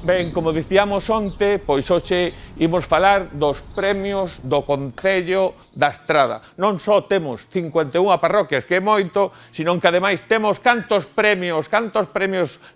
Ben, como dicíamos onte, pois hoxe imos falar dos premios do Concello da Estrada. Non só temos 51 parroquias, que é moito, senón que ademais temos cantos premios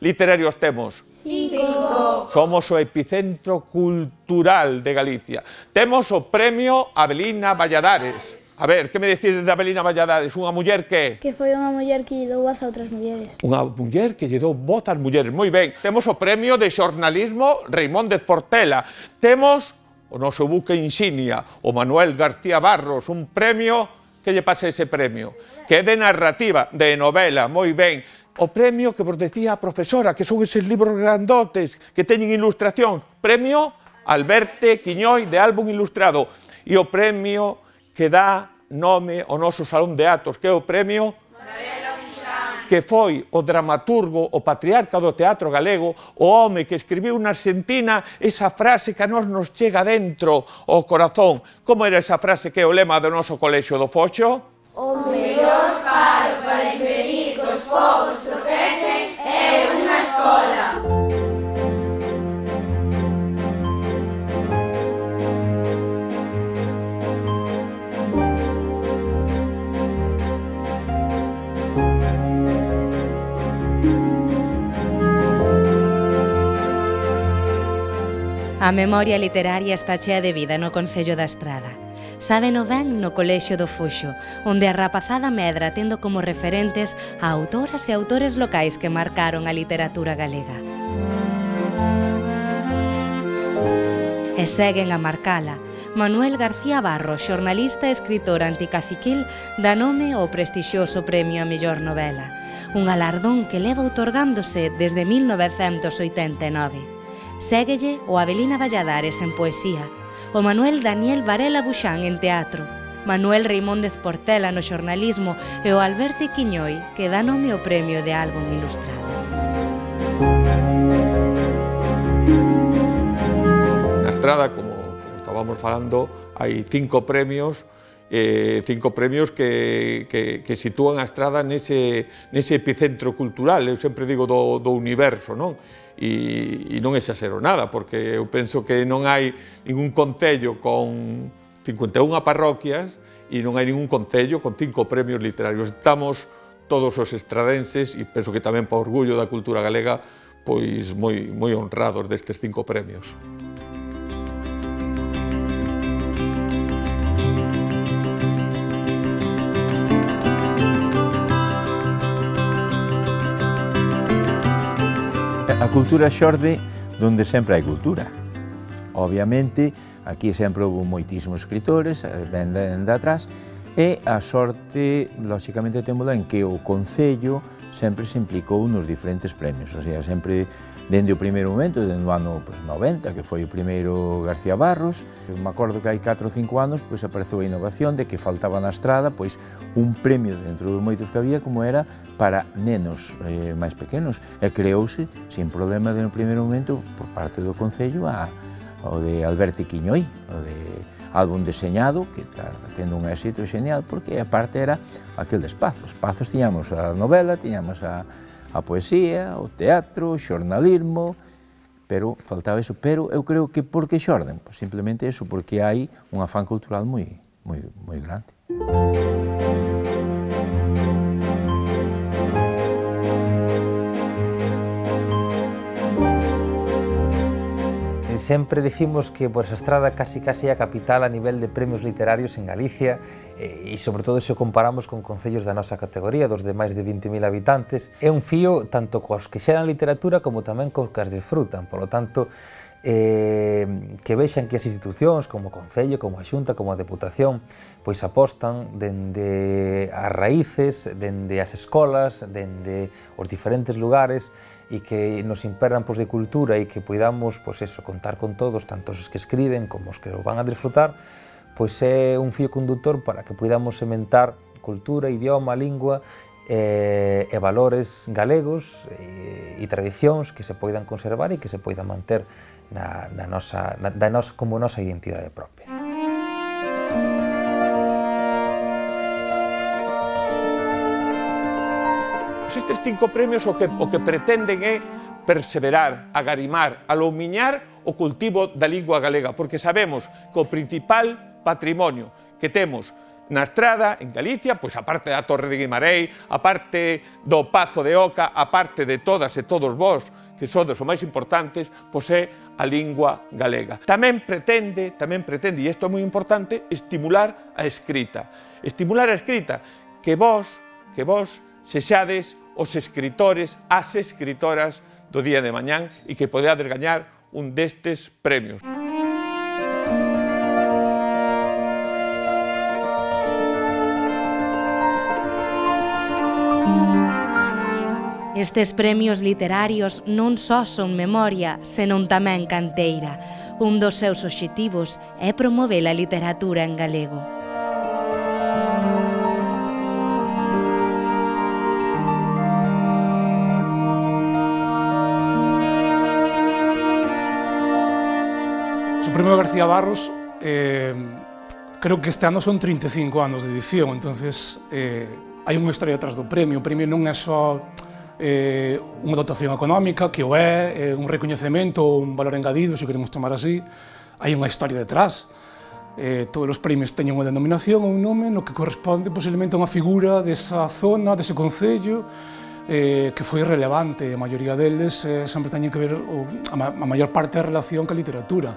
literarios temos? 5. Somos o epicentro cultural de Galicia. Temos o premio Avelina Valladares. A ver, que me decides de Avelina Valladares? Unha muller que... Que foi unha muller que lle dou voz a outras mulleres. Unha muller que lle dou voz ás mulleres. Moi ben. Temos o premio de xornalismo Reimóndez Portela. Temos o noso buque insignia, o Manuel García Barros, un premio... Que lle pasa ese premio? Que é de narrativa, de novela, moi ben. O premio que vos decía a profesora, que son eses libros grandotes que teñen ilustración. Premio Alberte Quiñoi de álbum ilustrado. E o premio que dá nome ao noso Salón de Actos, que é o premio que foi o dramaturgo, o patriarca do teatro galego, o home que escribiu na Argentina esa frase que a nós nos chega dentro ao corazón. Como era esa frase que é o lema do noso colexio do Foxo? O mellor faro para impedir que os povos tropecen é unha escola. A memoria literaria está chea de vida no Concello da Estrada. Sábeno ben no Colexio do Foxo, onde a rapazada medra tendo como referentes a autoras e autores locais que marcaron a literatura galega. E seguen a marcala. Manuel García Barros, xornalista e escritor anticaciquil, dá nome ao prestixioso Premio a Mellor Novela, un galardón que leva outorgándose desde 1989. Séguelle o Avelina Valladares en poesía, o Manuel Daniel Varela Buxán en teatro, Manuel Reimóndez Portela no xornalismo e o Alberte Quiñoi, que dá nome ao premio de álbum ilustrado. Na Estrada, como estábamos falando, hai 5 premios que sitúan a Estrada nese epicentro cultural, eu sempre digo do universo, non? E non exagero nada, porque eu penso que non hai ningún concello con 51 parroquias e non hai ningún concello con 5 premios literarios. Estamos todos os estradenses, e penso que tamén para orgullo da cultura galega, pois moi honrados destes 5 premios. A cultura xorde donde sempre hai cultura. Obviamente, aquí sempre houve moitísimos escritores, ben de atrás, e a sorte, lóxicamente, témola en que o Concello sempre se implicou nos diferentes premios, o sea, sempre, dende o primeiro momento, dende o ano 90, que foi o primeiro García Barros, me acordo que hai 4 ou 5 anos, apareceu a innovación de que faltaba na Estrada un premio dentro dos moitos que había, como era para nenos máis pequenos, e creouse, sin problema, no primeiro momento, por parte do Concello, o de Alberte Quiñoi, o de álbum deseñado, que está tendo un éxito genial, porque a parte era aquel de espazos. Espazos tiñamos a novela, tiñamos a poesía, o teatro, o xornalismo, pero faltaba eso. Pero eu creo que por que xorden? Pues simplemente eso, porque hai un afán cultural moi grande. Sempre dicimos que a Estrada casi é a capital a nivel de premios literarios en Galicia, e sobre todo se o comparamos con concellos da nosa categoría, dos de máis de 20.000 habitantes. É un fío tanto cos que xeran literatura como tamén cos que as disfrutan. Por lo tanto, que vexan que as institucións como o Concello, como a Xunta, como a Deputación, pois apostan dende as raíces, dende as escolas, dende os diferentes lugares, e que nos imperan de cultura e que poidamos contar con todos, tanto os que escriben como os que o van a disfrutar, pois é un fío conductor para que poidamos sementar cultura, idioma, lingua e valores galegos e tradicións que se poidan conservar e que se poidan manter como nosa identidade propia. Estes 5 premios o que pretenden é perseverar, agarimar, alomiñar o cultivo da lingua galega, porque sabemos que o principal patrimonio que temos na Estrada, en Galicia, pois a parte da Torre de Guimarães, a parte do Pazo de Oca, a parte de todas e todos vós, que sodes os máis importantes, pois é a lingua galega. Tamén pretende, e isto é moi importante, estimular a escrita. Estimular a escrita, que vós sexades os escritores, as escritoras do día de mañán e que podeades gañar un destes premios. Estes premios literarios non só son memoria, senón tamén canteira. Un dos seus obxectivos é promover a literatura en galego. O Premio García Barros, creo que este ano son 35 anos de edición, entonces hai unha historia detrás do premio. O premio non é só unha dotación económica, que o é un recoñecemento ou un valor engadido, se queremos chamar así. Hai unha historia detrás. Todos os premios teñen unha denominación ou un nome no que corresponde posiblemente a unha figura desa zona, dese concello, que foi relevante. A maioría deles sempre teñen que ver, a maior parte da relación ca literatura.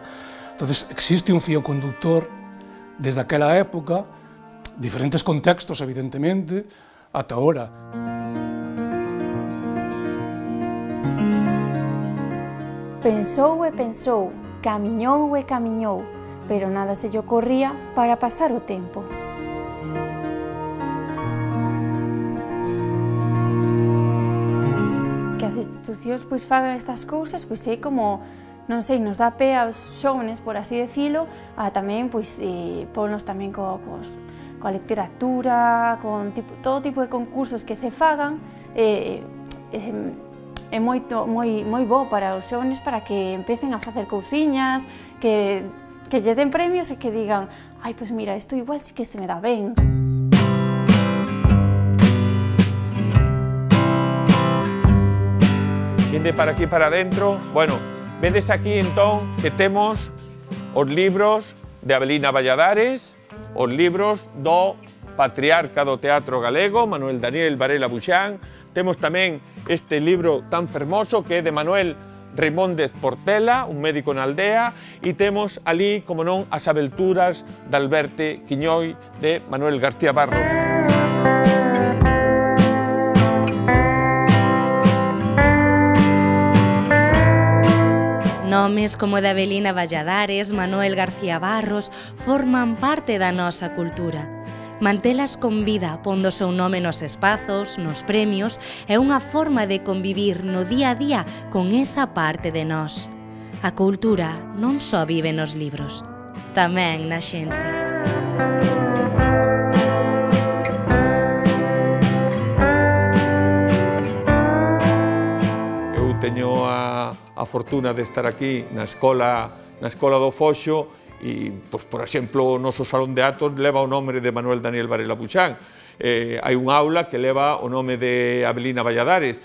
Entonces, existe un fío conductor desde aquela época, diferentes contextos, evidentemente, ata ahora. Pensou e pensou, camiñou e camiñou, pero nada se lle ocorría para pasar o tempo. Que as institucións pois fagan estas cousas, pois é como, non sei, nos dá pé aos xóvenes, por así decilo, a tamén pois ponnos tamén coa literatura, con todo tipo de concursos que se fagan. É moi bo para os xóvenes para que empecen a facer cousiñas, que lle den premios e que digan ai, pois mira, isto igual sí que se me dá ben. Vinde para aquí para dentro. Bueno, vedes aquí entón que temos os libros de Avelina Valladares, os libros do patriarca do teatro galego, Manuel Daniel Varela Buxán. Temos tamén este libro tan fermoso que é de Manuel Reimóndez Portela, un médico na aldea, e temos ali, como non, as aventuras de Alberte Quiñoi de Manuel García Barros. Nomes como de Avelina Valladares, Manuel García Barros forman parte da nosa cultura. Mantelas con vida, pondo o seu nome nos espazos, nos premios, é unha forma de convivir no día a día con esa parte de nós. A cultura non só vive nos libros, tamén na xente. Eu teño a fortuna de estar aquí na escola do Foxo, e, pois, por exemplo, o noso salón de actos leva o nome de Manuel Daniel Varela Buxán. Hai un aula que leva o nome de Avelina Valladares.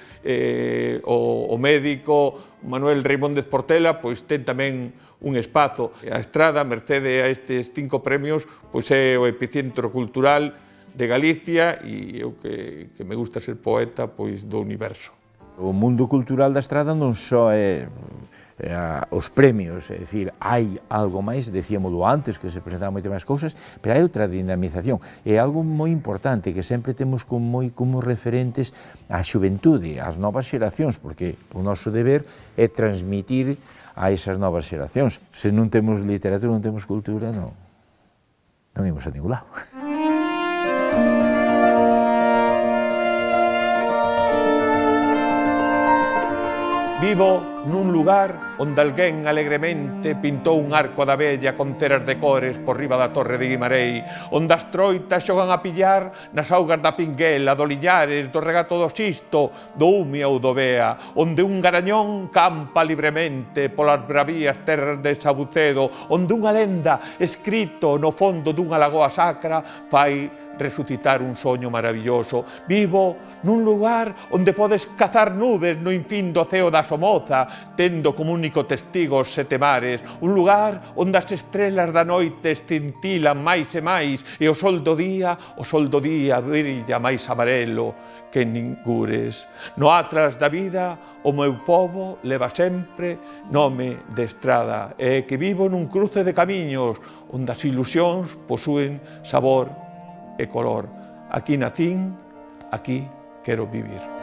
O médico Manuel Reimóndez Portela pois ten tamén un espazo. A Estrada, mercede a estes 5 premios, pois é o epicentro cultural de Galicia e eu que me gusta ser poeta pois do universo. O mundo cultural da Estrada non só é os premios, é dicir, hai algo máis, decíamolo antes, que se presentaban moitas máis cousas, pero hai outra dinamización, é algo moi importante que sempre temos como referentes a xuventude, as novas xeracións, porque o noso deber é transmitir a esas novas xeracións. Se non temos literatura, non temos cultura, non imos a ningún lado. Vivo nun lugar onde alguén alegremente pintou un arco da vella con teras de cores por riba da Torre de Guimarães, onde as troitas xogan a pillar nas augas da Pinguela, do Liñares, do Regato do Xisto, do Umia ou do Bea, onde un garañón campa libremente polas bravías terras de Sabucedo, onde unha lenda escrito no fondo dunha lagoa sacra fai resucitar un soño maravilloso. Vivo nun lugar onde podes cazar nubes no infín do ceo da Somoza, tendo como único testigo os 7 mares. Un lugar onde as estrelas da noite escintilan máis e máis e o sol do día brilla máis amarelo que ningures. No atlas da vida, o meu povo leva sempre nome de estrada e que vivo nun cruce de camiños onde as ilusións posúen sabor e color. Aquí nacín, aquí quero vivir.